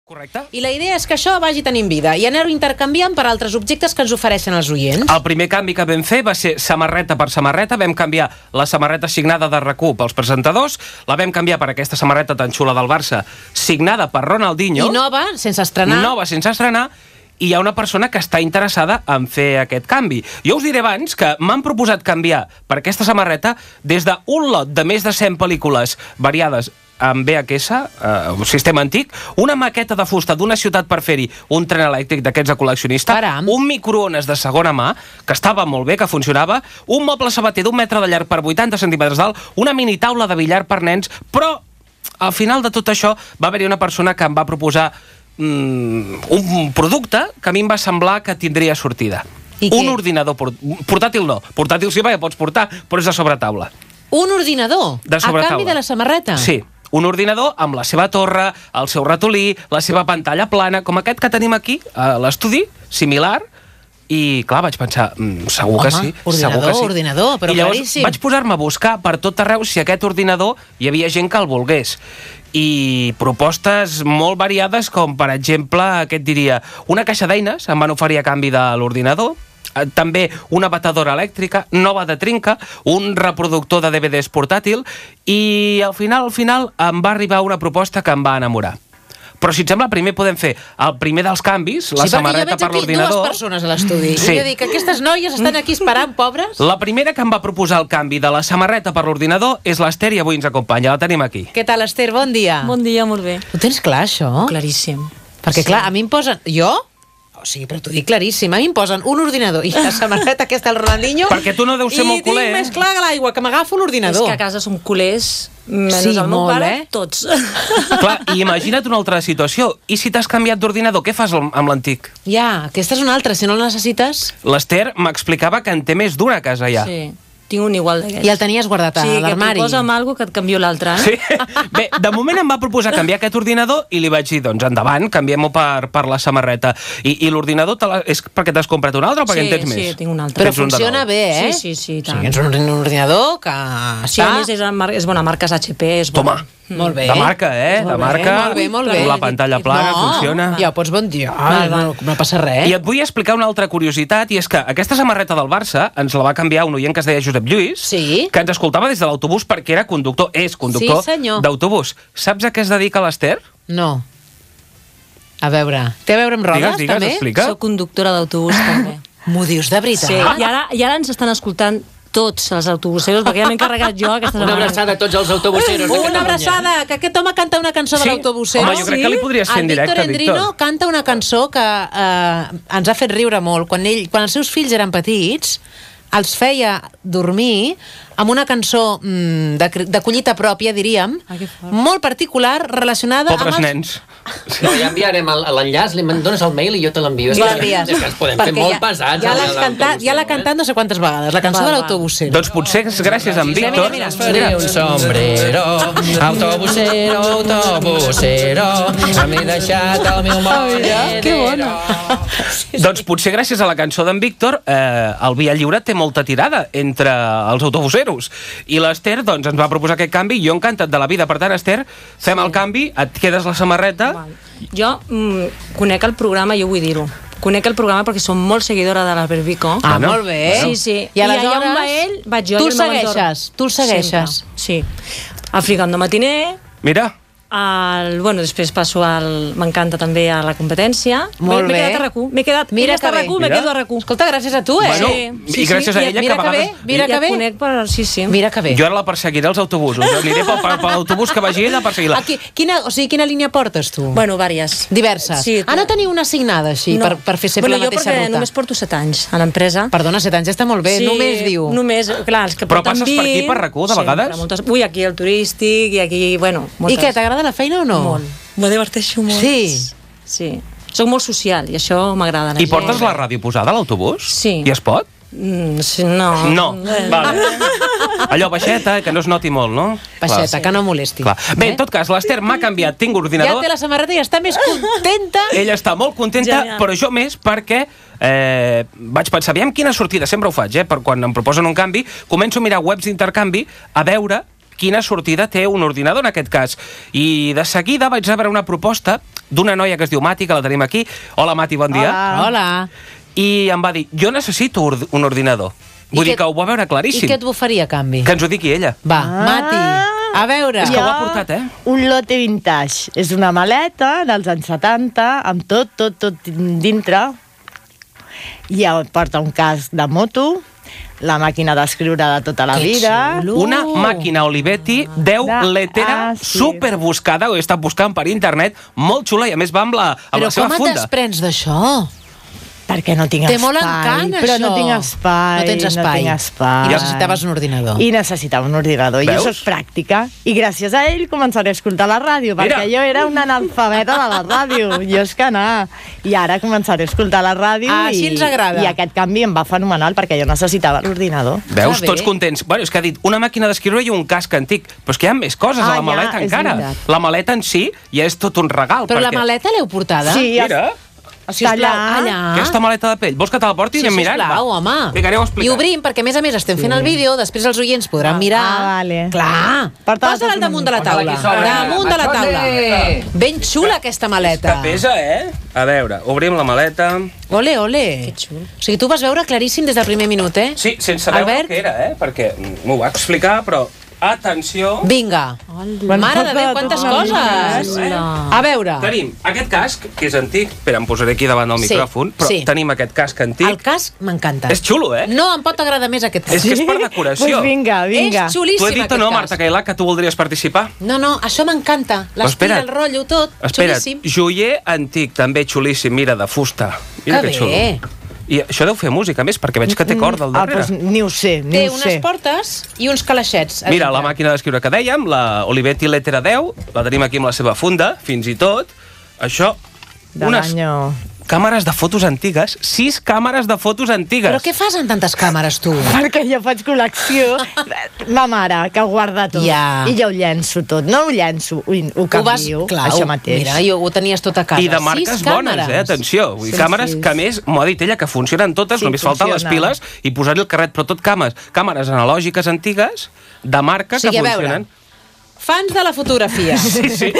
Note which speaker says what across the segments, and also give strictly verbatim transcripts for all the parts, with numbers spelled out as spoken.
Speaker 1: Correcte.
Speaker 2: I la idea és que això vagi tenint vida i anar-ho intercanviant per altres objectes que ens ofereixen els oients.
Speaker 1: El primer canvi que vam fer va ser samarreta per samarreta. Vam canviar la samarreta signada de RAC u pels presentadors, la vam canviar per aquesta samarreta tan xula del Barça, signada per Ronaldinho.
Speaker 2: I nova, sense estrenar.
Speaker 1: Nova, sense estrenar. I hi ha una persona que està interessada en fer aquest canvi. Jo us diré abans que m'han proposat canviar per aquesta samarreta des d'un lot de més de cent pel·lícules variades amb V H S, eh, un sistema antic, una maqueta de fusta d'una ciutat per fer-hi un tren elèctric d'aquests de col·leccionista,
Speaker 2: Caram.
Speaker 1: un microones de segona mà, que estava molt bé, que funcionava, un moble sabater d'un metre de llarg per vuitanta centímetres d'alt, una mini taula de billar per nens, però al final de tot això va haver-hi una persona que em va proposar mm, un producte que a mi em va semblar que tindria sortida.
Speaker 2: I
Speaker 1: un
Speaker 2: què?
Speaker 1: ordinador port portàtil no, portàtil sí perquè pots portar, però és de sobretaula.
Speaker 2: Un ordinador?
Speaker 1: De
Speaker 2: a canvi
Speaker 1: sobretaula.
Speaker 2: de la samarreta?
Speaker 1: Sí, un ordinador amb la seva torre, el seu ratolí, la seva pantalla plana, com aquest que tenim aquí a l'estudi, similar, i clar, vaig pensar, mm, segur que
Speaker 2: Home,
Speaker 1: sí,
Speaker 2: ordinador,
Speaker 1: segur que sí.
Speaker 2: ordinador, però
Speaker 1: I llavors
Speaker 2: claríssim.
Speaker 1: vaig posar-me a buscar per tot arreu si aquest ordinador hi havia gent que el volgués. I propostes molt variades, com per exemple, què et diria, una caixa d'eines em van oferir a canvi de l'ordinador, també una batedora elèctrica nova de trinca, un reproductor de D V Ds portàtil, i al final, al final em va arribar una proposta que em va enamorar. Però si et sembla, primer podem fer el primer dels canvis, la
Speaker 2: sí,
Speaker 1: samarreta per
Speaker 2: l'ordinador. Sí, perquè jo veig aquí dues persones a l'estudi.
Speaker 1: Sí.
Speaker 2: I jo dic, aquestes noies estan aquí esperant, pobres.
Speaker 1: La primera que em va proposar el canvi de la samarreta per l'ordinador és l'Ester i avui ens acompanya, la tenim aquí.
Speaker 2: Què tal, Esther? Bon dia.
Speaker 3: Bon dia, molt bé.
Speaker 2: Ho tens clar, això?
Speaker 3: Claríssim.
Speaker 2: Perquè,
Speaker 3: Sí.
Speaker 2: clar, a mi em posen... Jo? O sigui, però t'ho dic claríssim. A mi em posen un ordinador i la samarreta aquesta del Ronaldinho...
Speaker 1: Perquè tu no deus ser molt culer,
Speaker 2: I tinc
Speaker 1: eh?
Speaker 2: més clar que l'aigua, que m'agafo
Speaker 3: És
Speaker 2: l'ordinador.
Speaker 3: que a casa som culers, menys
Speaker 2: Sí,
Speaker 3: el meu
Speaker 2: molt,
Speaker 3: pare,
Speaker 2: eh?
Speaker 3: tots.
Speaker 1: Clar, i imagina't una altra situació. I si t'has canviat d'ordinador, què fas amb l'antic?
Speaker 2: Ja, aquesta és una altra, si no el necessites...
Speaker 1: L'Ester m'explicava que en té més d'una casa ja.
Speaker 3: Sí, tinc un igual d'aquests.
Speaker 2: I el tenies guardat a
Speaker 3: Sí, que
Speaker 2: l'armari.
Speaker 3: proposa'm alguna cosa que et canvio l'altre. Eh?
Speaker 1: Sí. Bé, de moment em va proposar canviar aquest ordinador i li vaig dir, doncs endavant, canviem-ho per, per la samarreta. I, i l'ordinador te la, és perquè t'has comprat un altre o perquè
Speaker 3: Sí,
Speaker 1: en tens
Speaker 3: sí,
Speaker 1: més?
Speaker 3: tinc un altre.
Speaker 2: Però
Speaker 1: Tens un de
Speaker 2: funciona
Speaker 1: nou.
Speaker 2: bé, eh?
Speaker 3: Sí, sí, sí, i
Speaker 2: O
Speaker 3: tant.
Speaker 2: sigui, és un ordinador que
Speaker 3: Sí,
Speaker 2: està...
Speaker 3: a més és, mar és bona marca, és H P, és bona.
Speaker 1: Toma,
Speaker 2: Molt bé.
Speaker 1: de marca, eh?
Speaker 2: Molt
Speaker 1: De
Speaker 2: bé,
Speaker 1: marca,
Speaker 2: molt bé, molt bé.
Speaker 1: amb la pantalla plana,
Speaker 2: no,
Speaker 1: funciona.
Speaker 2: Ja ho pots bon dia.
Speaker 3: Val,
Speaker 2: No,
Speaker 3: val.
Speaker 2: no passa res.
Speaker 1: I et vull explicar una altra curiositat, i és que aquesta samarreta del Barça ens la va canviar un oient que es deia Josep Lluís,
Speaker 2: Sí.
Speaker 1: que ens escoltava des de l'autobús perquè era conductor, és conductor
Speaker 2: Sí, senyor.
Speaker 1: d'autobús. Saps a què es dedica l'Ester?
Speaker 2: No. A veure, té a veure amb rodes,
Speaker 1: Digues, digues,
Speaker 2: també?
Speaker 1: explica.
Speaker 3: Soc conductora d'autobús, també.
Speaker 2: M'ho dius de veritat?
Speaker 3: Sí, i ara, i ara ens estan escoltant tots els autobuseros, perquè ja m'he encarregat jo aquesta
Speaker 4: Una
Speaker 3: setmana.
Speaker 4: abraçada a tots els autobuseros de
Speaker 2: Una
Speaker 4: Catalunya.
Speaker 2: abraçada, que aquest home canta una cançó
Speaker 1: Sí?
Speaker 2: de l'autobusero.
Speaker 1: Home, jo crec que li podries fer en directe,
Speaker 2: El Víctor Endrino
Speaker 1: Víctor.
Speaker 2: canta una cançó que eh, ens ha fet riure molt. Quan, ell, quan els seus fills eren petits, els feia dormir amb una cançó mm, de, de collita pròpia, diríem,
Speaker 3: Ah, que fort.
Speaker 2: molt particular, relacionada
Speaker 1: Pobres
Speaker 2: amb els...
Speaker 1: nens.
Speaker 4: No, ja enviarem el- l'enllaç, li man- dones el mail i jo te l'envio. És que-
Speaker 2: L'envies.
Speaker 4: És que ens podem fer
Speaker 2: Perquè
Speaker 4: molt
Speaker 2: ja,
Speaker 4: pesats.
Speaker 2: Ja
Speaker 4: amb
Speaker 2: l'has cantat, ja
Speaker 4: l'autobusero,
Speaker 2: l'ha cantat no sé quantes vegades, la cançó
Speaker 3: Val,
Speaker 2: de
Speaker 3: val.
Speaker 2: l'autobusero.
Speaker 1: Doncs potser és gràcies a en
Speaker 2: Mira,
Speaker 1: Víctor.
Speaker 2: mira, mira.
Speaker 4: Faré un sombrero, autobusero, autobusero, m'he deixat el meu moll.
Speaker 3: Que bona.
Speaker 1: Doncs potser gràcies a la cançó d'en Víctor eh, el Via Lliure té molta tirada entre els autobuseros. I l'Ester doncs, ens va proposar aquest canvi i jo encantat de la vida. Per tant,Ester, fem el canvi, et quedes la samarreta.
Speaker 3: Val. Jo mm, conec el programa, jo vull dir-ho. Conec el programa perquè som molt seguidora de l'Albert Vico.
Speaker 2: Ah,
Speaker 1: Bueno,
Speaker 2: molt bé.
Speaker 3: Sí, sí.
Speaker 2: I aleshores,
Speaker 3: allà on va ell, vaig jo
Speaker 2: tu
Speaker 3: i
Speaker 2: el
Speaker 3: el meu
Speaker 2: segueixes,
Speaker 3: entorn.
Speaker 2: tu el segueixes.
Speaker 3: Sempre, sí. El Frigando Matiner,
Speaker 1: Mira,
Speaker 3: el, bueno, després passo al... M'encanta també a la competència.
Speaker 2: Molt
Speaker 3: M'he
Speaker 2: bé.
Speaker 3: quedat a RAC u. M'he quedat,
Speaker 2: Mira
Speaker 3: he
Speaker 2: que
Speaker 3: estat a
Speaker 2: bé.
Speaker 3: RAC u, me
Speaker 1: Mira.
Speaker 3: quedo a RAC u.
Speaker 2: Escolta, gràcies a tu, eh?
Speaker 1: Bueno, i gràcies a ella
Speaker 2: mira
Speaker 1: que a
Speaker 2: que bé,
Speaker 1: vegades...
Speaker 2: mira
Speaker 3: ja
Speaker 2: que bé.
Speaker 3: conec per... Sí, sí.
Speaker 2: Mira que bé.
Speaker 1: Jo ara la perseguiré als autobusos. Aniré per, per, per l'autobús que vagi ella a perseguir-la.
Speaker 2: Aquí, quina, o sigui, quina línia portes tu?
Speaker 3: Bueno, vàries.
Speaker 2: Diverses.
Speaker 3: Sí,
Speaker 2: ah, no teniu una assignada així, per, per fer sempre
Speaker 3: bueno,
Speaker 2: la mateixa
Speaker 3: jo perquè
Speaker 2: ruta?
Speaker 3: només porto set anys a l'empresa.
Speaker 2: Perdona, set anys ja està molt bé, només diu.
Speaker 3: Només, clar, els que
Speaker 1: Però
Speaker 3: porten
Speaker 1: passes per aquí,
Speaker 3: vint,
Speaker 1: per RAC u, de
Speaker 3: sempre,
Speaker 1: vegades?
Speaker 3: Moltes, ui, aquí el turístic i aquí, bueno, moltes.
Speaker 2: I què, t'agrada la feina o no?
Speaker 3: Molt. Me diverteixo molt.
Speaker 2: Sí.
Speaker 3: Sí. Soc molt social i això m'agrada.
Speaker 1: I portes la ràdio posada a l'autobús?
Speaker 3: Sí.
Speaker 1: I es pot?
Speaker 3: Mm, sí, no.
Speaker 1: No,
Speaker 3: Eh.
Speaker 1: vale. Allò, baixeta, que no es noti molt, no?
Speaker 2: Baixeta,
Speaker 1: Clar.
Speaker 2: que no molesti.
Speaker 1: Clar. Bé,
Speaker 2: Eh?
Speaker 1: en tot cas, l'Ester m'ha canviat, tinc
Speaker 2: Ja
Speaker 1: ordinador,
Speaker 2: té la samarreta i està més contenta.
Speaker 1: ella està molt contenta,
Speaker 3: Genial.
Speaker 1: però jo més perquè eh, vaig pensar, aviam quina sortida, sempre ho faig, eh, per quan em proposen un canvi, començo a mirar webs d'intercanvi a veure quina sortida té un ordinador en aquest cas. I de seguida vaig rebre una proposta d'una noia que es diu Mati, que la tenim aquí. Hola, Mati, bon dia.
Speaker 2: Hola. Hola.
Speaker 1: I em va dir, jo necessito un ordinador. Vull dir que ho va veure claríssim.
Speaker 2: I què et bufaria a canvi?
Speaker 1: Que ens ho digui ella.
Speaker 2: Va,
Speaker 5: Ah.
Speaker 2: Mati, a veure.
Speaker 1: És que ho ha portat, eh?
Speaker 5: Un lote vintage. És una maleta dels anys setanta, amb tot, tot, tot dintre. I porta un casc de moto, la màquina d'escriure de tota la
Speaker 2: Que
Speaker 5: vida.
Speaker 2: xulo.
Speaker 1: Una màquina Olivetti deu
Speaker 5: De-
Speaker 1: letera
Speaker 5: ah, sí.
Speaker 1: superbuscada, ho he estat buscant per internet, molt xula, i a més va amb la, amb
Speaker 2: Però
Speaker 1: la seva
Speaker 2: com et
Speaker 1: funda.
Speaker 2: desprens d'això?
Speaker 5: Perquè no tinc
Speaker 2: Té
Speaker 5: espai.
Speaker 2: molt encant,
Speaker 5: però
Speaker 2: això.
Speaker 5: no tinc espai.
Speaker 2: No tens espai.
Speaker 5: No tinc espai.
Speaker 2: I necessitaves un ordinador.
Speaker 5: I necessitava un ordinador.
Speaker 1: Veus?
Speaker 5: Jo soc pràctica. I gràcies a ell començaré a escoltar la ràdio,
Speaker 1: Mira.
Speaker 5: perquè jo era una analfabeta de la ràdio. Jo és que no. I ara començaré a escoltar la ràdio.
Speaker 2: Ah,
Speaker 5: i,
Speaker 2: així ens agrada.
Speaker 5: I aquest canvi em va fenomenal, perquè jo necessitava l'ordinador.
Speaker 1: Veus,
Speaker 2: Que bé.
Speaker 1: tots contents. Bueno, és que ha dit una màquina d'escriure i un casc antic. Però és que hi ha més coses
Speaker 5: Ah,
Speaker 1: a la
Speaker 5: ja,
Speaker 1: maleta
Speaker 5: és
Speaker 1: encara.
Speaker 5: veritat.
Speaker 1: La maleta en si ja és tot un regal.
Speaker 2: Però la
Speaker 1: perquè...
Speaker 2: maleta l'heu portada?
Speaker 5: Sí,
Speaker 1: Mira,
Speaker 5: està
Speaker 2: Sisplau, allà.
Speaker 1: aquesta maleta de pell. Vols que te la porti?
Speaker 2: Sí,
Speaker 1: Anem mirant?
Speaker 2: sisplau,
Speaker 1: Va.
Speaker 2: home.
Speaker 1: Vinga, aneu a
Speaker 2: I
Speaker 1: explicar.
Speaker 2: obrim, perquè a més a més estem fent el vídeo, després els oients podran
Speaker 5: Ah,
Speaker 2: mirar.
Speaker 5: ah, vale.
Speaker 2: Clar.
Speaker 5: Porta-la
Speaker 2: Posa-la al
Speaker 5: tota
Speaker 2: damunt de
Speaker 5: una
Speaker 2: la taula.
Speaker 4: mica. Posa-la aquí
Speaker 2: Damunt de la
Speaker 4: sobre.
Speaker 2: taula. Ben xula aquesta maleta.
Speaker 1: Que pesa, eh? A veure, obrim la maleta.
Speaker 2: Ole, ole. Que xulo. O sigui, tu vas veure claríssim des del primer minut, eh?
Speaker 1: Sí, sense veure
Speaker 2: Albert?
Speaker 1: què era, eh? Perquè m'ho va explicar, però... Atenció.
Speaker 2: Vinga.
Speaker 5: Bueno,
Speaker 2: Mare de Déu,
Speaker 5: tota
Speaker 2: quantes
Speaker 5: una
Speaker 2: coses.
Speaker 1: mica, eh?
Speaker 2: A veure.
Speaker 1: Tenim aquest casc, que és antic. Espera, em posaré aquí davant del
Speaker 2: Sí,
Speaker 1: micròfon. Però
Speaker 2: sí.
Speaker 1: tenim aquest casc antic.
Speaker 2: El casc m'encanta.
Speaker 1: És xulo, eh?
Speaker 2: No em pot agradar més aquest casc.
Speaker 1: És que és per decoració.
Speaker 5: Doncs vinga, vinga.
Speaker 2: És xulíssim,
Speaker 1: Tu he dit o
Speaker 2: aquest
Speaker 1: no,
Speaker 2: casc.
Speaker 1: Marta Cailà, que tu voldries participar?
Speaker 2: No, no, això m'encanta.
Speaker 1: Però
Speaker 2: L'estil,
Speaker 1: espera't.
Speaker 2: el rotllo, tot.
Speaker 1: Espera't,
Speaker 2: Xulíssim.
Speaker 1: joier antic, també xulíssim, mira, de fusta. Mira
Speaker 2: Que
Speaker 1: que xulo.
Speaker 2: bé.
Speaker 1: I això deu fer música, a més, perquè veig que té corda al
Speaker 5: Ah,
Speaker 1: darrere.
Speaker 5: doncs ni ho sé, ni
Speaker 2: Té
Speaker 5: ho
Speaker 2: unes
Speaker 5: sé.
Speaker 2: portes i uns calaixets. a
Speaker 1: Mira,
Speaker 2: dintre.
Speaker 1: la màquina d'escriure que dèiem, la Olivetti Lettera deu, la tenim aquí amb la seva funda, fins i tot. Això,
Speaker 5: De
Speaker 1: unes
Speaker 5: l'any...
Speaker 1: càmeres de fotos antigues, sis càmeres de fotos antigues.
Speaker 2: Però què fas amb tantes càmeres, tu?
Speaker 5: Perquè jo faig col·lecció. Ma mare, que ho guarda tot.
Speaker 2: Ja.
Speaker 5: I jo ho llenço tot. No ho llenço, ho, ho canvio,
Speaker 2: Clar,
Speaker 5: això mateix.
Speaker 2: Mira, jo ho tenies tot a casa.
Speaker 1: I de marques
Speaker 2: Sis
Speaker 1: bones,
Speaker 2: càmeres.
Speaker 1: eh? Atenció. Vull dir,
Speaker 5: Sí,
Speaker 1: càmeres
Speaker 5: sí.
Speaker 1: que, a més, m'ho ha dit ella, que funcionen totes,
Speaker 5: Sí,
Speaker 1: només falten les
Speaker 5: funciona.
Speaker 1: piles i posar-hi el carret, però tot càmeres. Càmeres analògiques antigues, de marca,
Speaker 2: O sigui,
Speaker 1: que
Speaker 2: a veure,
Speaker 1: funcionen.
Speaker 2: Fans de la fotografia.
Speaker 1: Sí, sí.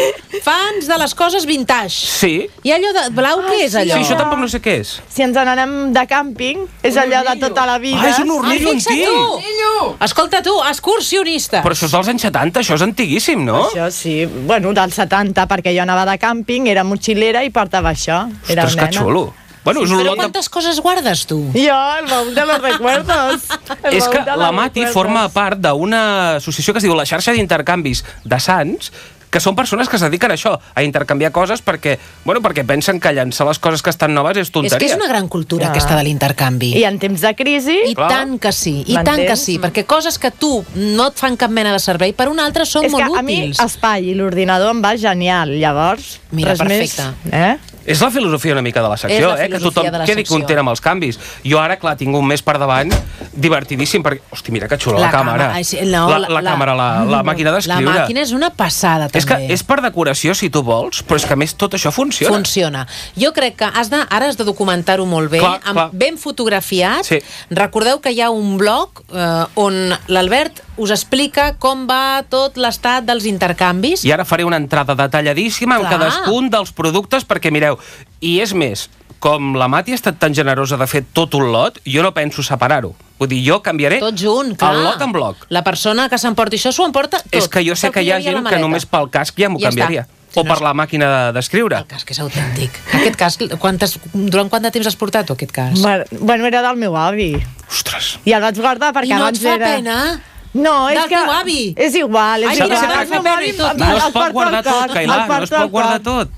Speaker 2: Fans de les coses vintage.
Speaker 1: Sí.
Speaker 2: I allò de blau, què és
Speaker 1: Sí,
Speaker 2: allò?
Speaker 1: això tampoc no sé què és.
Speaker 5: Si ens n'anem de càmping, és allò de tota la vida.
Speaker 1: Ah, és un
Speaker 2: Ah,
Speaker 1: hornillo
Speaker 2: fixa't
Speaker 1: antic.
Speaker 2: tu! Escolta tu, excursionista.
Speaker 1: Però això és dels anys setanta, això és antiguíssim, no?
Speaker 5: Això sí, bueno, dels setanta, perquè jo anava de càmping, era motxilera i portava això. Era
Speaker 1: Ostres, que
Speaker 5: nena.
Speaker 1: xulo. Bueno, és un
Speaker 2: Però
Speaker 1: lot de...
Speaker 2: quantes coses guardes, tu?
Speaker 5: Jo, el baúl de los recuerdos. El
Speaker 1: És
Speaker 5: baúl
Speaker 1: que
Speaker 5: de los
Speaker 1: la Mati
Speaker 5: recuerdos.
Speaker 1: forma part d'una associació que es diu la xarxa d'intercanvis de Sants, que són persones que es dediquen a això, a intercanviar coses perquè, bueno, perquè pensen que llançar les coses que estan noves és tonteria.
Speaker 2: És que és una gran cultura,
Speaker 5: Ah.
Speaker 2: aquesta de l'intercanvi.
Speaker 5: I en temps de crisi...
Speaker 2: I
Speaker 1: Clar.
Speaker 2: tant que sí, i tant
Speaker 5: M'entens?
Speaker 2: que sí, perquè coses que tu no et fan cap mena de servei, per un altre són
Speaker 5: és
Speaker 2: molt
Speaker 5: que a mi
Speaker 2: útils.
Speaker 5: espai i l'ordinador em va genial, llavors...
Speaker 2: Mira,
Speaker 5: res
Speaker 2: perfecte.
Speaker 5: Més, eh?
Speaker 1: És la filosofia una mica de la secció,
Speaker 2: És la
Speaker 1: eh? Que
Speaker 2: filosofia
Speaker 1: tothom
Speaker 2: de la
Speaker 1: quedi
Speaker 2: secció.
Speaker 1: content amb els canvis. Jo ara, clar, tinc un mes per davant divertidíssim, perquè... Hosti, mira que xula la,
Speaker 2: La
Speaker 1: càmera.
Speaker 2: càmera, ai, sí, no,
Speaker 1: la,
Speaker 2: la-
Speaker 1: la,
Speaker 2: la-
Speaker 1: càmera, la, la màquina
Speaker 2: La
Speaker 1: d'escriure.
Speaker 2: màquina és una passada, també.
Speaker 1: És que és per decoració, si tu vols, però és que a més tot això funciona.
Speaker 2: Funciona. Jo crec que has de, ara has de documentar-ho molt bé,
Speaker 1: Clar,
Speaker 2: amb,
Speaker 1: clar.
Speaker 2: ben fotografiat.
Speaker 1: Sí.
Speaker 2: Recordeu que hi ha un blog eh, on l'Albert us explica com va tot l'estat dels intercanvis.
Speaker 1: I ara faré una entrada detalladíssima amb
Speaker 2: Clar.
Speaker 1: cadascun dels productes, perquè mireu, i és més, com la Mati ha estat tan generosa de fer tot un lot, jo no penso separar-ho. Vull dir, jo canviaré
Speaker 2: Tot junt, clar.
Speaker 1: el lot en bloc.
Speaker 2: La persona que s'emporti això s'ho emporta tot.
Speaker 1: És que jo sé
Speaker 2: Tot
Speaker 1: que hi ha
Speaker 2: havia a la
Speaker 1: gent que
Speaker 2: maleta.
Speaker 1: només pel casc ja m'ho
Speaker 2: Ja està.
Speaker 1: canviaria.
Speaker 2: Si
Speaker 1: O
Speaker 2: no
Speaker 1: per
Speaker 2: és-
Speaker 1: la màquina d'escriure.
Speaker 2: El casc és autèntic. Aquest casc, quantes, durant quant de temps has portat, tu, aquest casc?
Speaker 5: Bueno, bueno, era del meu avi.
Speaker 1: Ostres.
Speaker 5: I el vaig guardar perquè
Speaker 2: I no et
Speaker 5: abans
Speaker 2: fa
Speaker 5: era...
Speaker 2: pena?
Speaker 5: No, és
Speaker 2: Del
Speaker 5: que...
Speaker 2: teu avi?
Speaker 5: És igual, és
Speaker 2: Ai,
Speaker 5: igual.
Speaker 2: mira,
Speaker 1: s'ha de
Speaker 5: El
Speaker 1: fer
Speaker 5: meu
Speaker 2: pena
Speaker 5: avi
Speaker 2: i tot.
Speaker 5: el-
Speaker 1: No
Speaker 5: el
Speaker 1: es pot
Speaker 5: porta
Speaker 1: guardar
Speaker 5: al
Speaker 1: tot,
Speaker 5: cor,
Speaker 1: Cailà,
Speaker 5: el
Speaker 1: no es
Speaker 5: porta
Speaker 1: pot
Speaker 5: al
Speaker 1: guardar
Speaker 5: cor.
Speaker 1: tot.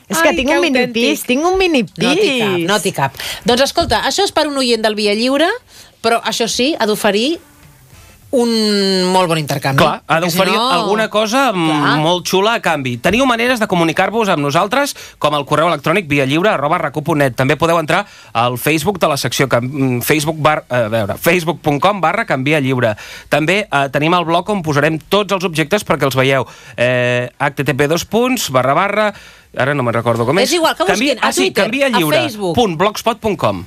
Speaker 5: És que
Speaker 2: Ai,
Speaker 5: tinc
Speaker 2: que
Speaker 5: un mini
Speaker 2: autèntic.
Speaker 5: pis, tinc un mini pis.
Speaker 2: No t'hi cap, no t'hi cap. Doncs escolta, això és per un oient del Via Lliure, però això sí, ha d'oferir un molt bon intercanvi.
Speaker 1: Clar, ha
Speaker 2: perquè
Speaker 1: d'oferir
Speaker 2: si no-
Speaker 1: alguna cosa mm,
Speaker 2: Clar.
Speaker 1: molt xula a canvi. Teniu maneres de comunicar-vos amb nosaltres, com el correu electrònic viallliure arroba racu punt net. També podeu entrar al Facebook de la secció Cam- Facebook bar, a veure, facebook punt com barra canvia lliure. També eh, tenim el blog on posarem tots els objectes perquè els veieu. Eh, h t t p dos punts barra barra ara no me'n recordo com és.
Speaker 2: És igual, que busquin
Speaker 1: Canvia,
Speaker 2: a
Speaker 1: ah, sí,
Speaker 2: Twitter,
Speaker 1: canvia
Speaker 2: a
Speaker 1: lliure
Speaker 2: Facebook.
Speaker 1: punt blogspot punt com.